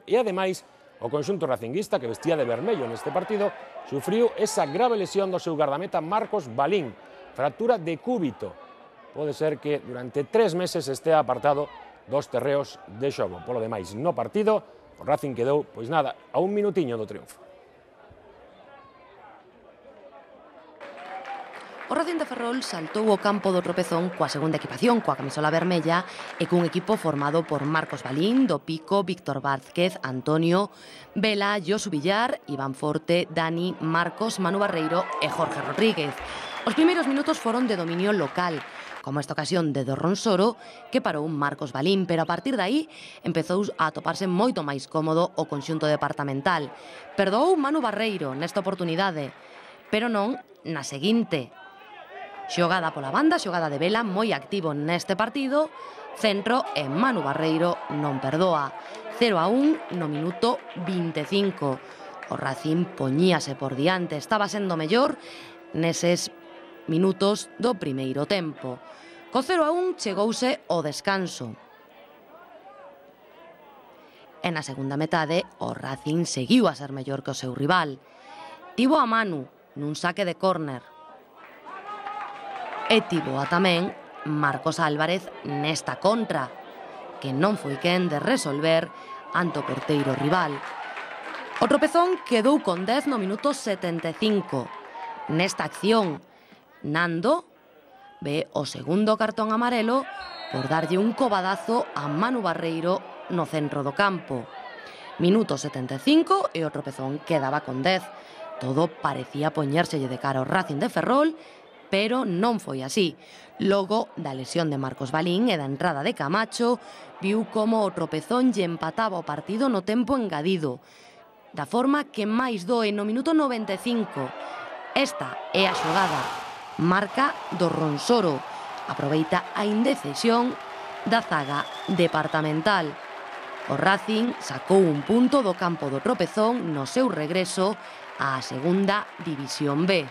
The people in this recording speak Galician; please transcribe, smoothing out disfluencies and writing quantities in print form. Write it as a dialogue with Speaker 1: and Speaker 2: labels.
Speaker 1: e ademais o conxunto racinguista, que vestía de vermello neste partido, sufriu esa grave lesión do seu gardameta Marcos Balín, fractura de cúbito. Pode ser que durante 3 meses estea apartado dos terreos de xogo. Polo demais, no partido, o Racing quedou, pois nada, a un minutiño do triunfo.
Speaker 2: O Racing de Ferrol saltou o campo do Tropezón coa segunda equipación, coa camisola vermella e cun equipo formado por Marcos Balín, do Pico, Víctor Vázquez, Antonio, Vela, Josu Villar, Iván Forte, Dani, Marcos, Manu Barreiro e Jorge Rodríguez. Os primeiros minutos foron de dominio local, como esta ocasión de Dorronsoro, que parou Marcos Balín, pero a partir de aí empezou a atoparse moito máis cómodo o conxunto departamental. Perdoou Manu Barreiro nesta oportunidade, pero non na seguinte. Xogada pola banda, xogada de Vela, moi activo neste partido, centro e Manu Barreiro non perdoa. 0-1 no minuto 25. O Racing poñíase por diante, estaba sendo mellor neses minutos do primeiro tempo. Co 0-1 chegouse o descanso. E na segunda metade, o Racing seguiu a ser mellor que o seu rival. Tivo a Manu nun saque de córner. E tivo a tamén Marcos Álvarez nesta contra, que non foi quen de resolver ante o porteiro rival. O Tropezón quedou con 10 no minuto 75. Nesta acción, Nando ve o segundo cartón amarelo por darlle un cobadazo a Manu Barreiro no centro do campo. Minuto 75 e o Tropezón quedaba con 10. Todo parecía poñérselle de cara ao Racing de Ferrol, pero non foi así. Logo da lesión de Marcos Balín e da entrada de Camacho, viu como o Tropezón lle empataba o partido no tempo engadido, da forma que máis doe no minuto 95. Esta é a xogada. Marca Dorronsoro. Aproveita a indecisión da zaga departamental. O Racing sacou un punto do campo do Tropezón no seu regreso á segunda División B.